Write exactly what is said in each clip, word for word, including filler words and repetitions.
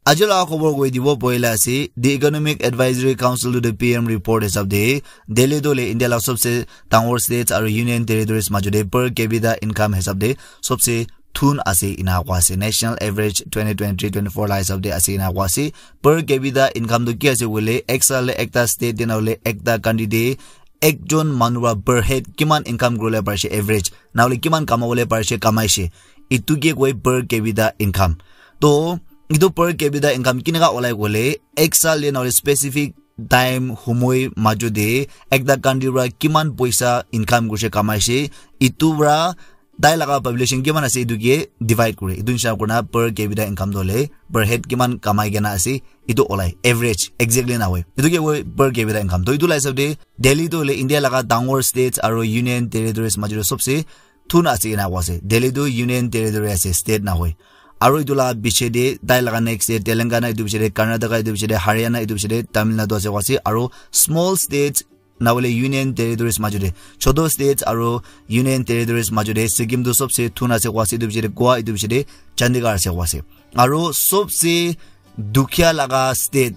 Aji laga khobor koi dibo poila ase, the Economic Advisory Council to the P M report hisab de, Delhi tu le India la sobse dangor states aru union territories majute per capita income hisab de sobse thun ase ina koa ase. National average twenty twenty-three twenty-four la hisab de ase ina koa ase. Per capita income tu ki ase koile, ek saal le ekta state de na hoile ekta country de ekjon manu para per head kiman income kuribole parishe, average, na hoile kiman kamabole parishe, kamaishe, itu ke koi per capita income. To itu per capita income kinaka olai koile, ek saal de na hoile specific time, humoi majo de ekta country para kiman poisa income kurishe, kamaishe, itu para tai laga population kiman ase itu ke divide kore. Itu nisina kurina per capita income tu hoile per head kiman kamai kena ase itu olai, average exactly na hoi. Itu ke koi per capita income. To itu la hisab de Delhi tu hoile India laga dangor states aru union territories majute sobse thun ase ina koa ase. Delhi tu union territory ase, state na hoi. Aru itu la piche de tai laga next de Telangana, itu piche de Karnataka, itu piche de Haryana, itu piche de Tamil Nadu ase koa ase. Aru small states na hoile union territories majute, choto states aru union territories majute Sikkim tu sobse thun ase koa ase, itu piche de Goa, itu piche de Chandigarh ase koa ase. Aru sobse dukhiya laga state,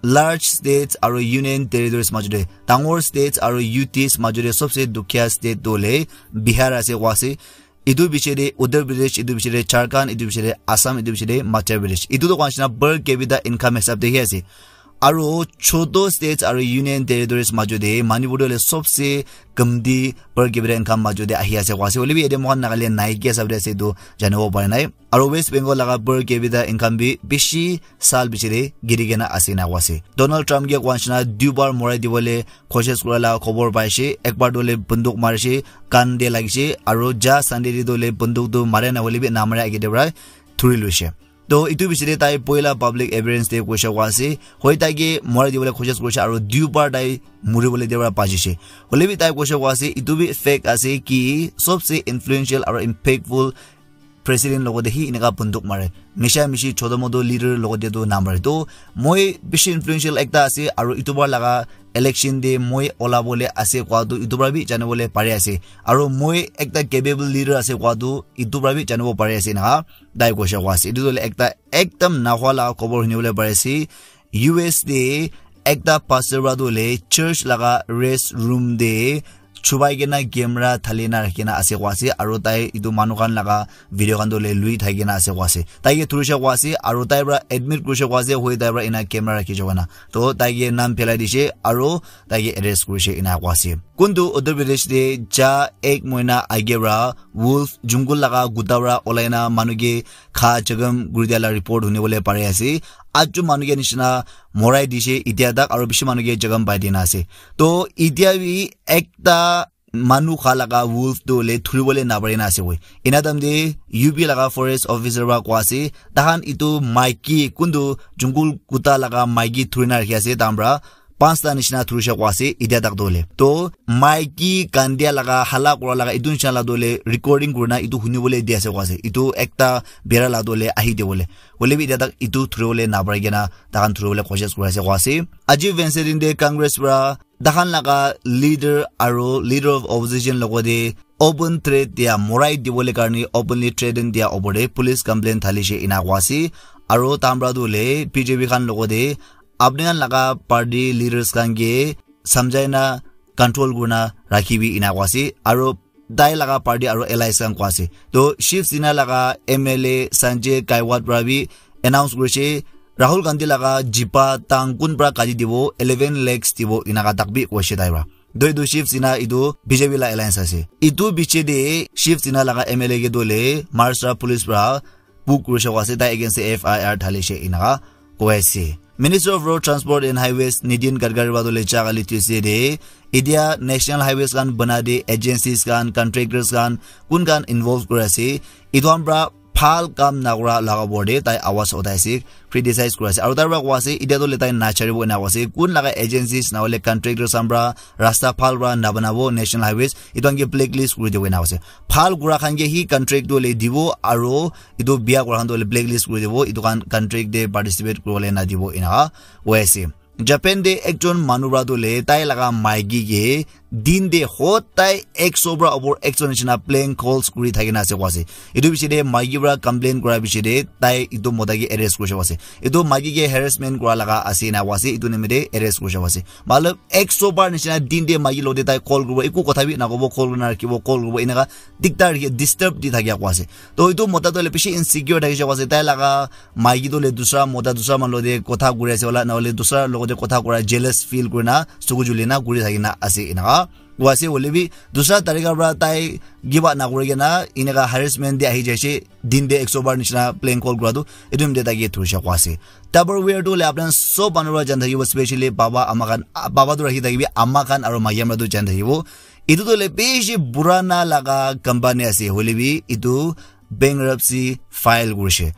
large states aru union territories majute, dangor states aru U Ts majute sobse dukhiya state tu hoile Bihar ase koa ase. Itu piche de Uttar Pradesh, itu piche de Jharkhand, itu piche de Assam, itu piche de Madhya Pradesh. Itu tu koa nisina per capita income hisab de hi ase. Aru choto states aru union territories majute Manipur tu hoile sobse kamti per capita income majute ahi ase koa ase. Hoile bi yate moikhan Nagaland nai ki hisab de ase itu janibo pare nai. Aru West Bengal laga per capita income bi bishi saal piche de giri kena ase ina koa ase. Donald Trump ke koa nisina duibar morai dibole koshish kura la khobor paishe, ekbar tu hoile bunduk marishe, kan de lagishe, aru ja Sunday de tu hoile bunduk tu mare na hoile bi namare age de para thuri loishe. To itu piche de tai poila public appearance de koishe koa ase, hoi tai ke morai dibole koshish kurishe aru duibar tai muribole de para bachishe. Hoile bi tai koishe koa ase, itu bi fact ase ki sobse influential aru impactful president logote hi eneka bunduk mare. Misha mishi choto moto leader logote tu namare. To moi bishi influential ekta ase aru itu bar laga election de moi olabole ase koa tu itu para bi janibole pari ase. Aru moi ekta capable leader ase koa tu itu para bi janibo pari ase ina tai koishe koa ase. Itu tu hoile ekta ekdam nahua laga khobor hunibole pari ase. U S de ekta pastor para tu hoile church laga rest room de chubai kena camera thali na rakhi kena ase koa ase, aru tai itu manu khan laga video khan tu hoile lui thaki kena ase koa ase. Tai ke thurishe koa ase, aru tai para admit kurishe koa ase, hoi tai para ena camera rakhi jabo na. To tai ke naam phelai dishe, aru tai ke arrest kurishe ena koa ase. Kuntu Uttar Pradesh de ja ek mohina age para wolf jungle laga kuta para olai na manu ke kha jagam kuri dia la report hunibole pari ase. Achu manu ke nisina morai dishe itia tak aru bishi manu ke jagam pai dina ase. To itia bi ekta manu kha laga wolf tu hoile thuribole napari na ase koi. Ena time de U P laga forest officer para koa ase, tahan itu maiki kuntu jungle kuta laga maiki thuri na rakhi ase, tahan para pansta nisina thurishe koa ase, itia tak tu hoile. To maiki kandia laga, hala kura laga, itu nisina la tu hoile recording kurina itu hunibole di ase koa ase. Itu ekta bera la tu hoile ahi dibole. Hoile bi itia tak itu thuribole napari kena tahan thuribole koshish kuri ase koa ase. Aji Wednesday din de Congress para tahan laga leader aru leader of opposition logote open threat dia, morai dibole karne openly threaten dia opor de police complaint thalishe ena koa ase. Aru tahan para tu hoile B J P khan logote apni khan laga party leaders khan ke samjhai na control kurina rakhibi ena koa ase. Aru tai laga party aru allies khan koa ase. To Shiv Sena laga M L A Sanjay Kaiwat para bi announce kurishe, Rahul Gandhi laga jipa tang kun para kati dibo, eleven lakhs dibo, enaka tak bi koishe tai para. To itu Shiv Sena itu B J P la alliance ase. Itu piche de Shiv Sena laga M L A ke tu hoile Maharashtra police para book kurishe koa ase, tai against de F I R thalishe enaka koi ase. Minister of Road Transport and Highways Nitin Gadkari para tu hoile ja kali Tuesday de itia national highways khan bana de agencies khan, contractors khan, kun khan involve kuri ase, itu khan para bhal kam nakura laga opor de tai awaz uthai ase, criticize kuri ase. Aru tai para koa ase, itia tu hoile tai nacharibo ena koa ase. Kun laga agencies na hoile contractors khan para rasta bhal para nabanabo national highways, itu khan ke blacklist kuri dibo ena koa ase. Bhal kura khan ke hi contract tu hoile dibo aru itu bia kura khan tu hoile blacklist kuri dibo, itu khan contract de participate kuribole nadibo enaka hoi ase. Japan de ekjon manu para tu hoile tai laga maiki ke Din te hodai ekso pra opor ekso nishina prank calls kuri thaki na ase koa ase. Etu piche te maiki pra complain kura piche te tai etu mota ke arrest kurishe koa ase. Etu maiki ke harassment kura laga ase ena koa ase, etu nimite arrest kurishe koa ase. Matlab, ekso bar nishina din te maiki logote tai call kuribo, eku kotha bi nakobo, call kurina rakhibo, call kuribo, eneka dikdar rakhi, disturb di thakia koa ase. To etu mota toh hoile bishi insecure thakishe koa ase, tai laga maiki toh hoile dusra mota, dusra manu logote kotha kuri ase wala, nahole dusra logote kotha kura jealous feel kurina, suku julina kuri thakina ase eneka. Koa ase hoile bi dusra tarika pra tai give up nakuri kena eneka harassment te ahi jaise, din te ekso bar nishina prank call kura tu, etu nimite tai ke thurishe koa ase. Tupperware tu hoile apna sob manu pra jan thakibo, specially baba ama khan, ah, baba tu rakhi thakibi, ama khan aro maiki khan pra tu jan thakibo. Etu tu hoile bishi purana laga company ase, hoile bi etu bankruptcy file kurishe.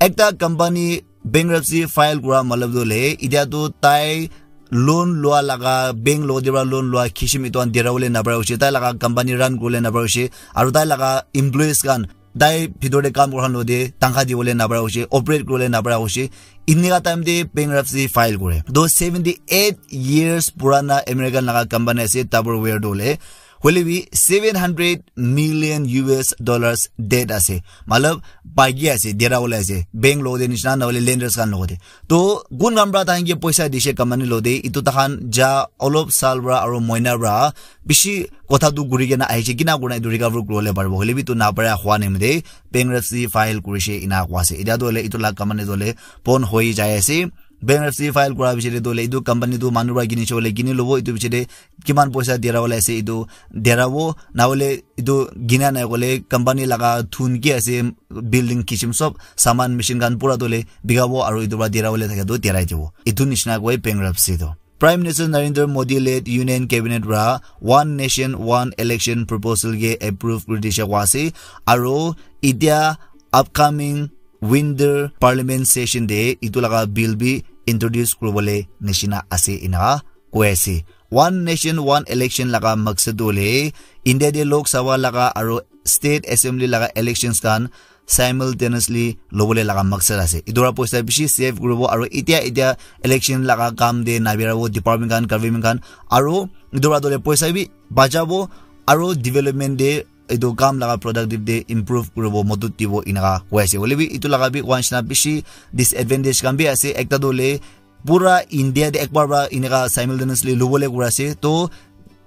Ekta company bankruptcy file kura matlab tu hoile, itya tu tai loan lua laga, bank logote pra loan lua kishim etu khan dera bole napara hoise, tai laga company run kuribole napara hoise, aru tai laga employees khan, tai bhitor te kam kura khan logote tangkha dibole napara hoise, operate kuribole napara hoise. Eneka time te bankruptcy file kure. Toh seventy eight years purana American laga company ase Tupperware toh hoile. Hoile bi seven hundred million U S dollars debt ase. Matlab, bagi ase, dera bole ase. Bank logote nishina, nahole lenders khan logote. To kun khan pra tahan ke poisa dishe company logote, etu tahan ja olop sal pra aro moina pra bishi kotha tu kuri kena ahishe, kina kurina etu recover kuribole paribo. Hoile bi etu napara hua nimite bankruptcy file kurishe ena koa ase. Itya tu hoile etu la company tu hoile bon hoi jai ase. Bankruptcy file kura piche te tu hoile etu company tu manu pra kinishe hoile kini lobo, etu piche te kiman poisa dera bole ase etu dera bo, nahole etu gina nai koile company laga thun ki ase, building kishim sob saman machine khan pura tu hoile bikabo aru etu pra dera bole thake tu derai dibo. Etu nishina koi bankruptcy tu. Prime Minister Narendra Modi led Union Cabinet pra One Nation One Election proposal ke approve kuri dishe koa ase, aru itya upcoming winter parliament session te etu laga bill bi introduce kuribole nishina ase ena koi ase. One Nation One Election laga maksad tu hoile India te Lok Sabha laga aru State Assembly laga elections khan simultaneously lobole laga maksad ase. Etu para poisa bishi save kuribo aru itya itya election laga kam te nabirabo department khan, government khan, aru etu para tole poisa bi bachabo aru development te etu kam laga productive te improve kuribo modot dibo eneka koi ase. Hoile bi etu laga bi koa nishina bishi disadvantage khan bi ase. Ekta tu hoile pura India te ekbar para eneka simultaneously lobole kura ase. To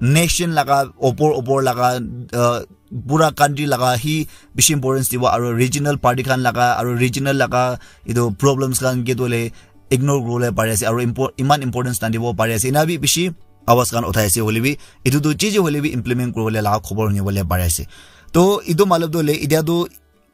nation laga opor opor laga, uh, pura country laga hi bishi importance dibo aru regional party khan laga aru regional laga etu problems khan ke tu hoile ignore kuribole pari ase aru impor-, iman importance nadibo pari ase. Ena bi bishi awaz khan uthai ase hoile bi etu tu chi chi hoile bi implement kuribole laga khobor hunibole pari ase. To etu matlab tu hoile itya tu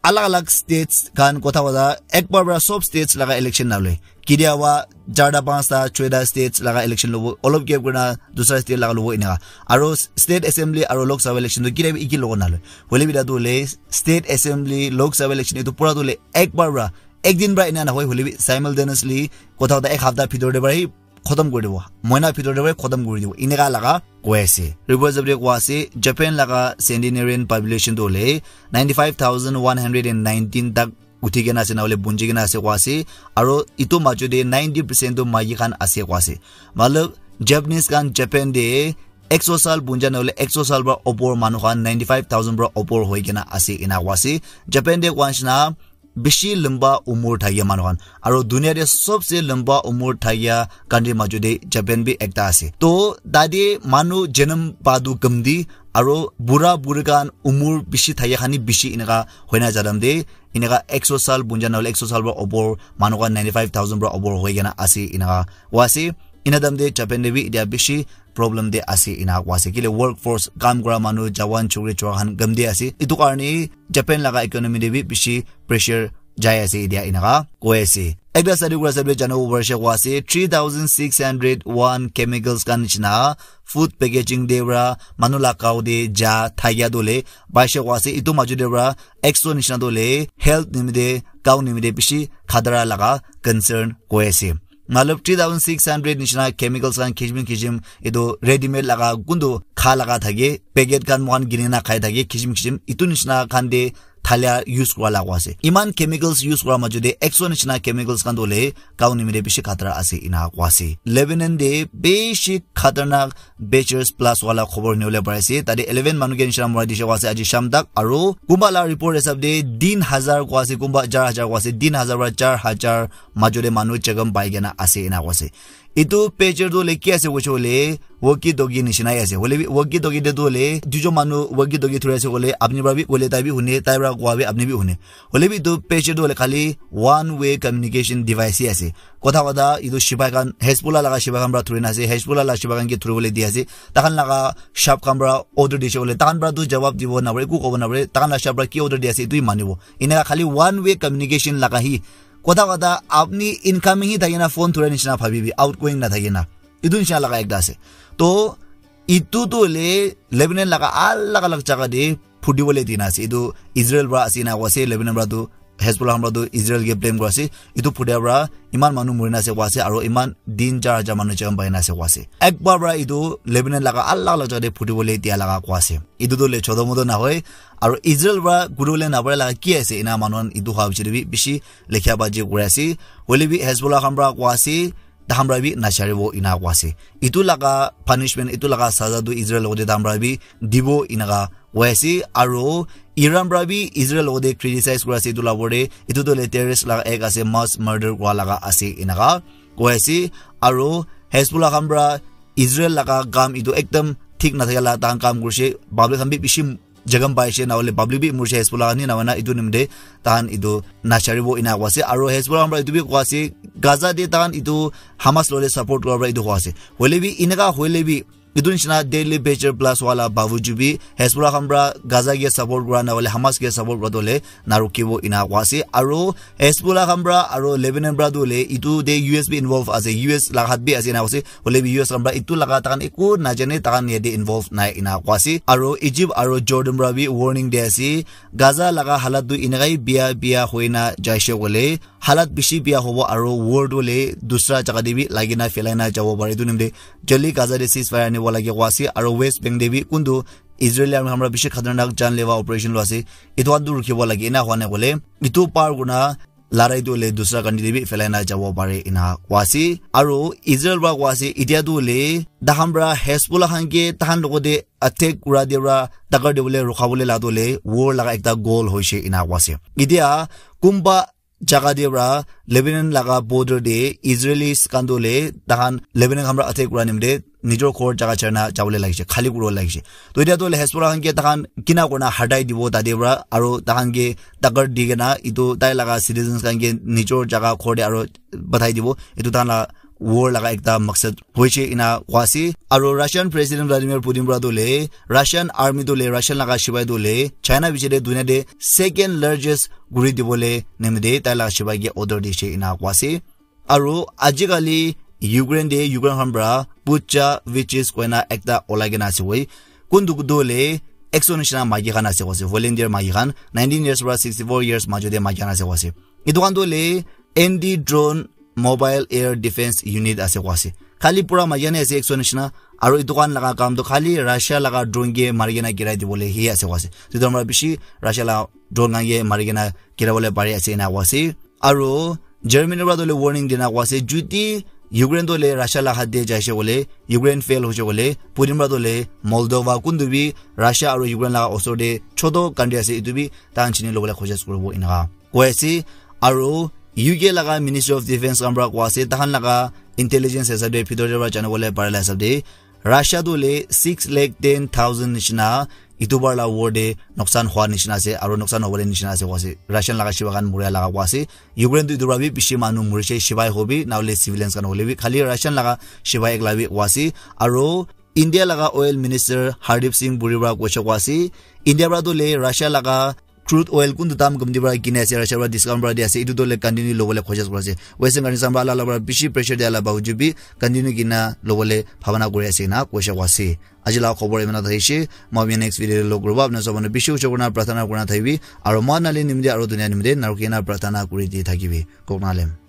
alag alag states khan kotha kotha ekbar para sob states laga election naloi. Kidiaba charta, panchta, choita states laga election lobo, olop gap kurina dusra state laga lobo eneka. Aru state assembly aru Lok Sabha election tu kidiaba iki logo naloi. Hoile bi etu tu hoile state assembly, Lok Sabha election etu pura tu hoile ekbar para, ek din para ena nahoi, hoile bi simultaneously kotha kotha ek hafta bhitor te para hi khotom kuri dibo, moina bhitor te para khotom kuri dibo, eneka laga koi ase. Report jab de koi ase, Japan laga centenarian population tu hoile ninety five thousand one hundred and nineteen tak uthi kena ase, nahole bunji kena ase koi ase, aru etu majo te ninety percent tu maiki khan ase koi ase. Matlab, Japanese khan Japan te ekso sal bunja nahole ekso sal para opor manu khan ninety five thousand para opor hoi kena ase ena koi ase. Japan te koi nishina bishi lamba umur thakia manu khan. Aru dunia te sobse lamba umur thakia country majo te Japan bi ekta ase. To tate manu janam pa tu kamti, aru bura buri khan umur bishi thakia khan hi bishi eneka hoina jadam te eneka ekso sal bunja nahole ekso sal para opor manu khan ninety five thousand para opor hoi kena ase eneka koi ase. Ena time te Japan te bi etia bishi problem te ase ena koi ase. Kile workforce, kam kura manu, jawan, chukri, chura khan kam te ase. Etu karne Japan laga economy te bi bishi pressure jai ase etia eneka koi ase. Ekta study kura hisab te janibo parise koi ase, three thousand six hundred one chemicals khan nishina food packaging te para manu la cow te ja thakia tu hoile paise koi ase. Etu majo te para ekso nishina tu hoile health nimite, cow nimite bishi khatara laga concern koi ase. Matlab three thousand six hundred nishina chemicals khan kisim kisim, etu ready made laga kuntu kha laga thake, packet khan moikhan kini na khai thake kisim kisim, etu nishina khan te thalia use kura la koa ase. Iman chemicals use kura majute ekso nishina chemicals khan tu hoile cow nimite bishi khatara ase ena koa ase. Lebanon te bishi khatarnak Beecher Blast wala khobor nibole pari ase. Tate eleven manu ke nishina mura dishe koa ase aji sham tak. Aru kumba la report hisab te tin hazar koa ase, kumba char hazar koa ase, tin hazar para char hazar majute manu jagam pai kena ase ena koa ase. Etu Beecher tu hoile ki ase koishe koile walkie talkie nishina ase. Hoile bi walkie talkie te tu hoile duijon manu walkie talkie thuri ase koile apni para bi koile tai bi hune, tai para koa bi apni bi hune. Hoile bi etu Beecher tu hoile khali one way communication device hi ase. Kotha kotha etu shibai khan, Hezbollah laga shibai khan para thuri na ase, Hezbollah laga shibai khan ke thuri bole di ase. Takhan laga shop khan para order dishe koile, takhan para tu jawab dibo na pare, eku kobo na pare, takhan laga shop para ki order di ase, etu hi manibo. Eneka khali one way communication laga hi. Kotha kotha apni incoming hi thakina phone thura nishina bhabibi, outgoing na thakina. Etu nishina laga ekta ase. To, etu tu hoile Lebanon laga alag alag jaga te phuti bole dina ase. Etu Israel para ase na koa ase, Lebanon para tu Hezbollah khan para tu Israel ke blame kura ase. Etu phutia para iman manu murina ase koa ase, aru iman tin char hajar manu jagam paina ase koa ase. Ekbar para etu Lebanon laga alag alag jaga te phuti bole dia laga koa ase. Etu tu hoile choto moto na hoi, aru Israel para kuri bole na pare laga ki ase, ena manu khan etu hoa bichari bi bishi lekha baji kuri ase. Hoile bi Hezbollah khan para koa ase, takhan para bi nacharibo ena koa ase. Etu laga punishment, etu laga saza tu Israel logote takhan para bi dibo enaka koi ase. Aru Iran para bi Israel logote criticize kuri ase etu la opor te, etu tu hoile terrorist laga act ase, mass murder kura laga ase enaka koi ase. Aru Hezbollah khan para Israel laga kam etu ekdam thik na thaka la takhan kam kurishe, public khan bi bishi jagam paishe, na hoile public bi murishe Hezbollah khan hi, na hoina etu nimite takhan etu nacharibo ena koa ase. Aru Hezbollah khan para etu bi koa ase, Gaza te takhan etu Hamas logote support kura para etu koa ase. Hoile bi eneka hoile bi etu nishina deadly Beecher Blast wala bavuju bi Hezbollah khan para Gaza ke support kura na hoile Hamas ke support kura tu hoile na rukibo ena koa ase. Aru Hezbollah khan para aru Lebanon para tu hoile etu te U S bi involve ase, U S laga hath bi ase ena koa ase. Hoile bi U S khan para etu laga takhan eku najane, takhan yate involve nai ena koa ase. Aru Egypt aru Jordan para bi warning di ase, Gaza laga halat tu eneka hi bia bia hoina jaishe koile halat bishi bia hobo aru war tu hoile dusra jaga te bi lagina phelaina jabo pare. Etu nimite jaldi Gaza te ceasefire anibo lage koa ase. Aru West Bank te bi kuntu Israeli army khan para bishi khatarnak janlewa operation loi ase, etu khan tu rukibo lage. Ena hua nai koile etu par kurna larai tu hoile dusra country te bi phelaina jabo pare ena koa ase. Aru Israel para koa ase, etia tu hoile takhan para Hezbollah khan ke takhan logote attack kura te para takar te bole rukha bole la tu hoile war laga ekta goal hoishe ena koa ase. Etia kumba jaga te para Lebanon laga border te Israelis khan tu hoile takhan Lebanon khan para attack kura nimite nijor ghor jaga chari na jabo le lagise, khali kuri bo lagise. To etia tu hoile Hezbollah khan ke takhan kina kurna hatai dibo tate para, aru takhan ke takar di kena etu tai laga citizens khan ke nijor jaga ghor te aru pathai dibo. Etu takhan la war laga ekta maksad hoishe ena koa ase. Aru Russian President Vladimir Putin para tu hoile Russian army tu hoile, Russian laga shibai tu hoile China bichari te dunia te second largest kuri dibo le nimite tai laga shibai ke order dishe ena koa ase. Aru ajikali Ukraine te Ukraine khan para Bucha witches koina ekta olai kena ase hoi. Kuntu tu hoile ekso nishina maiki khan ase koa ase, volunteer maiki khan, nineteen years para sixty four years majo te maiki khan ase koa ase. Etu khan tu hoile anti drone mobile air defense unit ase koa ase. Khali pura maiki khan ase ekso nishina, aru etu khan laga kam tu khali Russia laga drone ke mari kena girai dibole hi ase koa ase. Etu para bishi Russia laga drone khan ke mari kena girai bole pari ase ena koa ase. Aru Germany para tu hoile warning dina koa ase, jodi Ukraine tu hoile Russia laga hath te jaise koile, Ukraine fail hoise koile, Putin para tu hoile Moldova kuntu bi Russia aru Ukraine laga osor te choto country ase, etu bi takhan chini lobole koshish kuribo enaka koi ase. Aru U K laga Ministry of Defense khan para koa ase, takhan laga intelligence hisab te, bhitor te para jana bole pare la hisab te, Russia tu hoile six lakh ten thousand nishina etu bar la war te noksan hua nishina ase, aru noksan hobole nishina ase koa ase. Russian laga shibai khan muria laga koa ase. Ukraine tu etu para bi bishi manu murise, shibai hobi, na hoile civilians khan hoile bi, khali Russian laga shibai ekla bi koa ase. Aru India laga oil minister Hardeep Singh Puri para koise koa ase, India para tu hoile Russia laga crude oil kuntu dam komti para kine ase, Russia para discount para di ase, etu tu hoile continue lobole koshish kuri ase. Western countries khan para alak alak para bishi pressure dia la bawjud bi continue kina lobole bhabana kuri ase na koise koa ase. Aji laga khobor imana thakishi, moi apni next video te log kuribo. Apni sob manu bishi uche kurina prarthana kurina thakibi, aru moi nali nimite aru dunia nimite narukina prarthana kuri di thakibi. Koknalem.